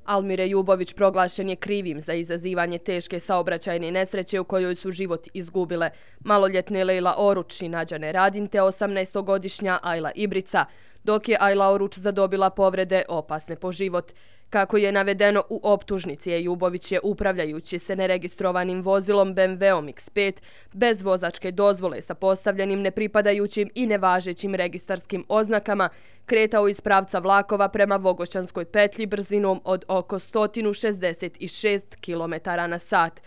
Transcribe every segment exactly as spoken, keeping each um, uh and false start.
Almir Ejubović proglašen je krivim za izazivanje teške saobraćajne nesreće u kojoj su život izgubile maloljetne Lejla Oruč i Nađane Radin te osamnaestogodišnja Ajla Ibrica, dok je Ajla Oruč zadobila povrede opasne po život. Kako je navedeno u optužnici, Ejubović je upravljajući se neregistrovanim vozilom B M W-om X pet bez vozačke dozvole sa postavljenim nepripadajućim i nevažećim registarskim oznakama kretao iz pravca vlakova prema Vogošćanskoj petlji brzinom od oko sto šezdeset šest kilometara na sat.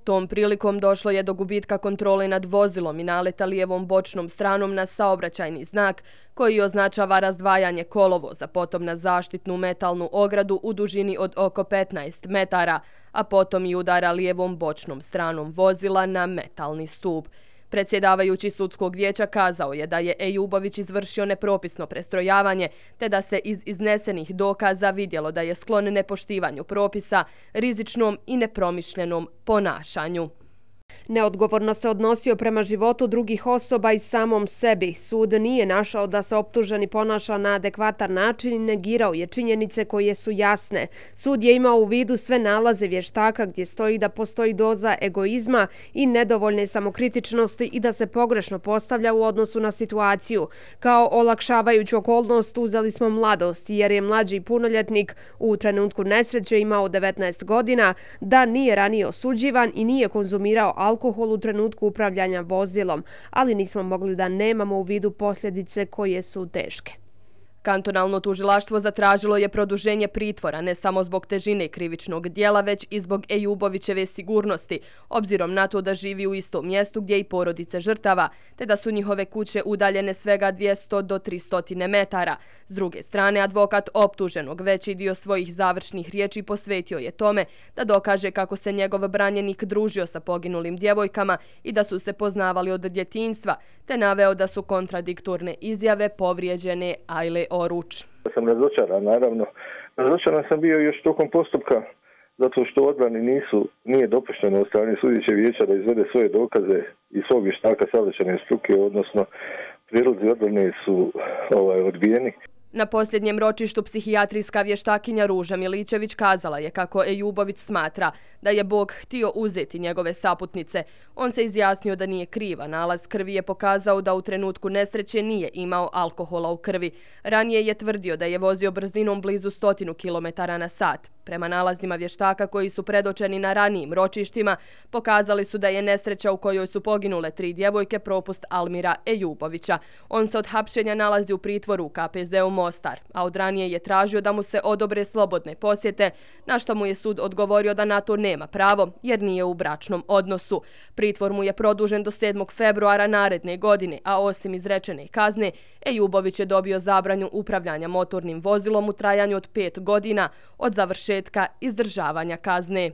Tom prilikom došlo je do gubitka kontrole nad vozilom i naleta lijevom bočnom stranom na saobraćajni znak koji označava razdvajanje kolovoza, potom na zaštitnu metalnu ogradu u dužini od oko petnaest metara, a potom i udara lijevom bočnom stranom vozila na metalni stup. Predsjedavajući sudskog vijeća kazao je da je Ejubović izvršio nepropisno prestrojavanje, te da se iz iznesenih dokaza vidjelo da je sklon nepoštivanju propisa, rizičnom i nepromišljenom ponašanju. Neodgovorno se odnosio prema životu drugih osoba i samom sebi. Sud nije našao da se optuženi ponaša na adekvatan način i negirao je činjenice koje su jasne. Sud je imao u vidu sve nalaze vještaka gdje stoji da postoji doza egoizma i nedovoljne samokritičnosti i da se pogrešno postavlja u odnosu na situaciju. Kao olakšavajuću okolnost uzeli smo mladost jer je mlađi punoljetnik u trenutku nesreće imao devetnaest godina, da nije ranije osuđivan i nije konzumirao alkohol u trenutku upravljanja vozilom, ali nismo mogli da nemamo u vidu posljedice koje su teške. Kantonalno tužilaštvo zatražilo je produženje pritvora ne samo zbog težine krivičnog dijela, već i zbog Ejubovićeve sigurnosti, obzirom na to da živi u istom mjestu gdje i porodice žrtava, te da su njihove kuće udaljene svega dvjesto do tristo metara. S druge strane, advokat optuženog veći dio svojih završnih riječi posvetio je tome da dokaže kako se njegov branjenik družio sa poginulim djevojkama i da su se poznavali od djetinjstva, te naveo da su kontradiktorne izjave povrijeđene Ajle Oruč. Sam razočaran, naravno. Razočaran sam bio još tokom postupka zato što odbrani nisu, nije dopušteno od strane sudećeg vijeća da izvede svoje dokaze i svog vještaka saobraćajne struke, odnosno prijedlozi odbrane su ovaj, odbijeni. Na posljednjem ročištu psihijatrijska vještakinja Ruža Miličević kazala je kako Ejubović smatra da je Bog htio uzeti njegove saputnice. On se izjasnio da nije kriva. Nalaz krvi je pokazao da u trenutku nesreće nije imao alkohola u krvi. Ranije je tvrdio da je vozio brzinom blizu stotinu kilometara na sat. Prema nalazima vještaka koji su predočeni na ranijim ročištima, pokazali su da je nesreća u kojoj su poginule tri djevojke propust Almira Ejubovića. On se od hapšenja nalazi u pritvoru u K P Z-u Mostar, a od ranije je tražio da mu se odobre slobodne posjete, na što mu je sud odgovorio da na to nema pravo, jer nije u bračnom odnosu. Pritvor mu je produžen do sedmog februara naredne godine, a osim izrečene kazne, Ejubović je dobio zabranju upravljanja motornim vozilom u trajanju od pet godina od završetka izdržavanja kazne.